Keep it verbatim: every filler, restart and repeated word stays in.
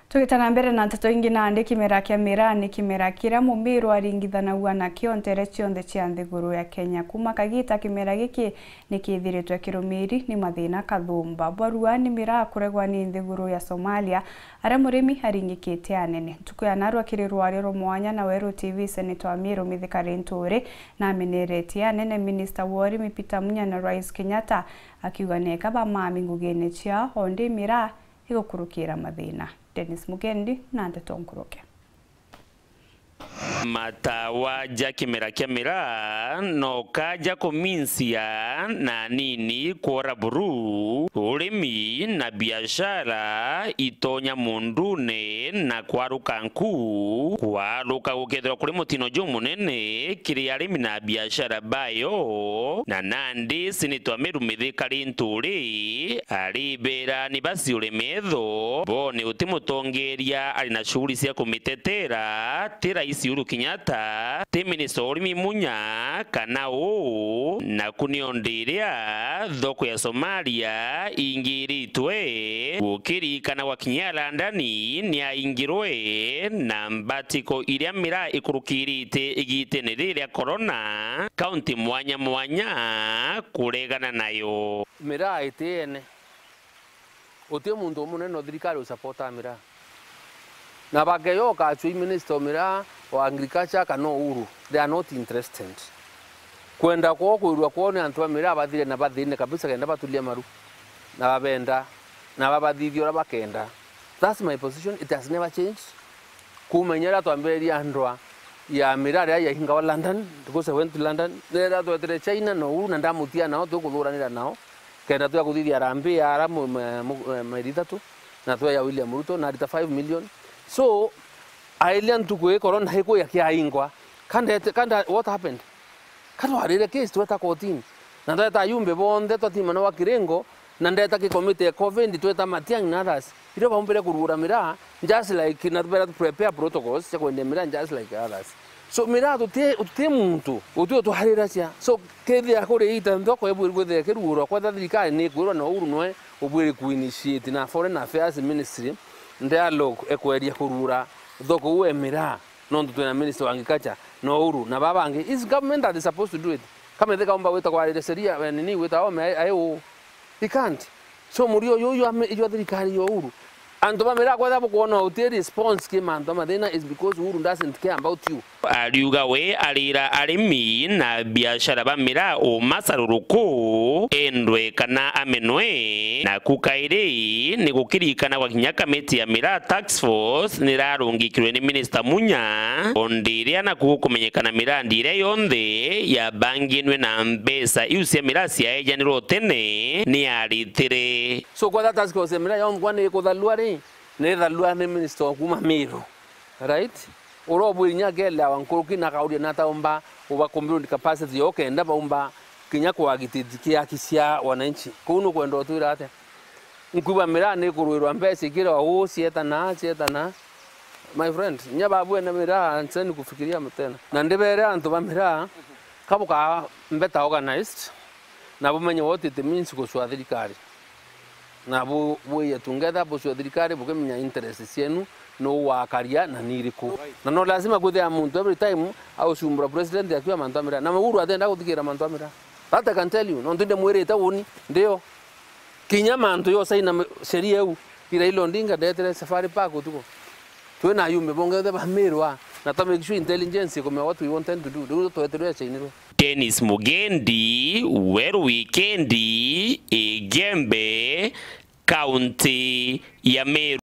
Tugita na mbere na nteto ingi, nandi kimera kia miraa ni kimera kiria Mumiru aringithanagua nakio ntere cionthe cia nthiguru ya Kenya. Kuma kagita kimera giki ni kithiritwe kirumiri ni mathina kathumba. Bwarua ni miraa kuregwa ni nthiguru ya Somalia, aria murimi aringikite anene. Ntuku ya narua kiri rwario rwa mwanya na Weru T V, Senator wa Miru Mithika Linturi nameneretie anene, Minister wa urimi Peter Munya na Rais Kenyatta, akiuga neka bamami ngugine ciao, ondi miraa igukurukira mathina. Dennis Mugendi na ndeto nkuruke. Matawa ja kimera kia miraa no kaja kuminsia na nini kwora buru, urimi na biashara itonya mundune na kwaruka nku. Kwaruka gukethirwa kuri mutino jumunene kiri arimi na biashara bayo, na nandi Senator wa Miru Mithika Linturi aribera ni baciure metho bone uti mutongeria ari na shughuli cia kumitetera, ti Rais Uhuru Kenyatta, ti Minister wa urimi Munya, kana uu, naku niondi iria thoko ya Somalia ingiritwe, gukirikana gwa kinya London ni aingirwe na mbatiko iria miraa ikurukirite igitene riri ria corona, kaunti mwanya mwanya kuregana nayo. Miraa itiene. Guti muntu umunene o thirikari u support a miraa. Na bakeyoka acui minister o miraa, o agriculture kana Uhuru, they are not interested. Kwenda kwao kwirua kwao ni antu ba miraa bathire na bathine kabisa kenda batulia maru. Na babenda, na babathithia uria bakenda. That's my position, it has never changed. Kuuma inya riria twambiririe ndwa ya miraa riria yahingawa London, because I went to London, riria twetire China na Uhuru na ndamutia nao, tukuthuranira nao, kenda twa kuthithia harambee ya ara mu-, ma-, mu-, eh, mairi ithatu, na twa ya William Ruto, na arita five million. So, airia ntuku ii corona iku yakiaingwa, kandete, kanda, what happened? Katwarire case tweta kotini, na tweta ayumbe bonthe twatimana wa kiringo, na ndeta ki committee ya covid, tweta Matiang'i na others, irio baumbire kurugura miraa, just like, na tubera tu prepare protocols cia kwendia miraa just like others. So miraa tuti, tuti muntu, uti utwariracia. So kethira kuri ita nthoko ibwiri kwithira kirugurwa, kwetha thirikari ni ikwirwa na Uhuru nwe ubwiri ku initiate na Foreign Affairs Ministry, dialogue ekweria kurugura thoko uu e miraa. Nontu twina minister wa agriculture, na Uhuru, na baba bangi. Is government that is supposed to do it. Kama ithika umba wita kwarire sheria, eh, nini wita ome, ai, ai, uu. He can't. So, murio uyu, uyu ame-, uyu thirikari ya Uhuru. Antu ba miraa kwetha bukwona uti response ki mantu mathina is because Uhuru doesn't care about you. Ariuga we arira arimi na biashara ba miraa uma caruruku, endwe kana amenwe, naku kairi ni gukirikana gwa kinya kamiti ya miraa tax force nirarungikirwe ni Minister Munya, o ndi iria naku gukumenyekana mirandi iria yonthe yabanginwe na mbeca iu cia miraa ciaejanirwe utene ni aritire. So, kwetha task force ya miraa yonthe kwani ikuthalua ri? Ni ithalua ni minister wa kuma Miru, right? Uria ubwiri nya akelewa nkuruki na akauria na ataumba uba community capacity yo kenda baumba kinya kuagitate kiaki cia wananchi. Kuu nukwenda utwira atia? Nkuba miraa ni kurwirwa mbeca ikira uu, cietana, cietana. My friend, nya babwene miraa, anseni kufikiria tena. Na ndibere antu ba miraa, kabuka mbeta organized, na bumenye what it means gucua thirikari. Na bu-, bwiye tu ngetha bucua thirikari bukimenya interest cienu, nuu wakaria na ni iriku. Na no lazima kwithia muntu every time aucumbura president akiwa mantu a miraa. Na Uhuru atenda guthikira mantu a miraa. That I can tell you, nontu ndimwirite uni, ndio. Kinya mantu yo saina m-, sheria iu, Raila Odinga ndetire Safari Park utuku. Twina ayumbe bongethe ba Miru aa, na twa make sure intelligence ikumenya what we want them to do. Riu twetirwe acainirwe. Dennis Mugendi, Weru Wikendi, Igembe, kaunti ya Meru.